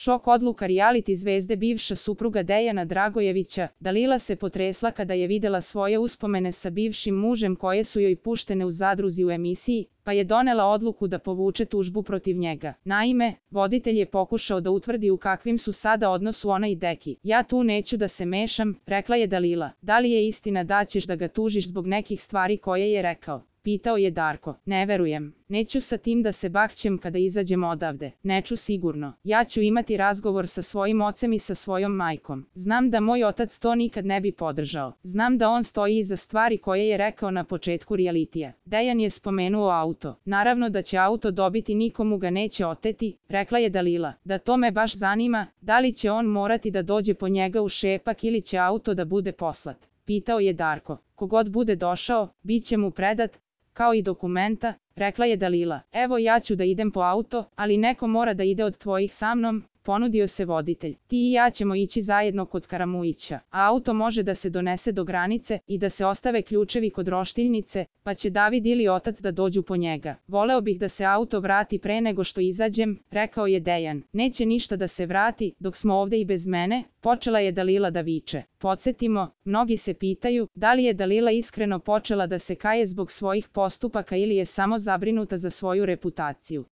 Šok odluka reality zvezde bivša supruga Dejana Dragojevića, Dalila se potresla kada je videla svoje uspomene sa bivšim mužem koje su joj puštene u zadruzi u emisiji, pa je donela odluku da povuče tužbu protiv njega. Naime, voditelj je pokušao da utvrdi u kakvim su sada odnosu ona i Deki. Ja tu neću da se mešam, rekla je Dalila. Da li je istina da ćeš da ga tužiš zbog nekih stvari koje je rekao? Pitao je Darko. Ne verujem. Neću sa tim da se bakćem kada izađem odavde. Neću sigurno. Ja ću imati razgovor sa svojim ocem i sa svojom majkom. Znam da moj otac to nikad ne bi podržao. Znam da on stoji iza stvari koje je rekao na početku realitija. Dejan je spomenuo auto. Naravno da će auto dobiti, nikomu ga neće oteti, rekla je Dalila. Da to me baš zanima, da li će on morati da dođe po njega u Šepak ili će auto da bude poslat. Pitao je Darko. Kogod bude došao, bit će mu predat, kao i dokumenta, rekla je Dalila. Evo ja ću da idem po auto, ali neko mora da ide od tvojih sa mnom, ponudio se voditelj. Ti i ja ćemo ići zajedno kod Karamujića, a auto može da se donese do granice i da se ostave ključevi kod roštiljnice, pa će David ili otac da dođu po njega. Voleo bih da se auto vrati pre nego što izađem, rekao je Dejan. Neće ništa da se vrati, dok smo ovde i bez mene, počela je Dalila da viče. Podsjetimo, mnogi se pitaju da li je Dalila iskreno počela da se kaje zbog svojih postupaka ili je samo zabrinuta za svoju reputaciju.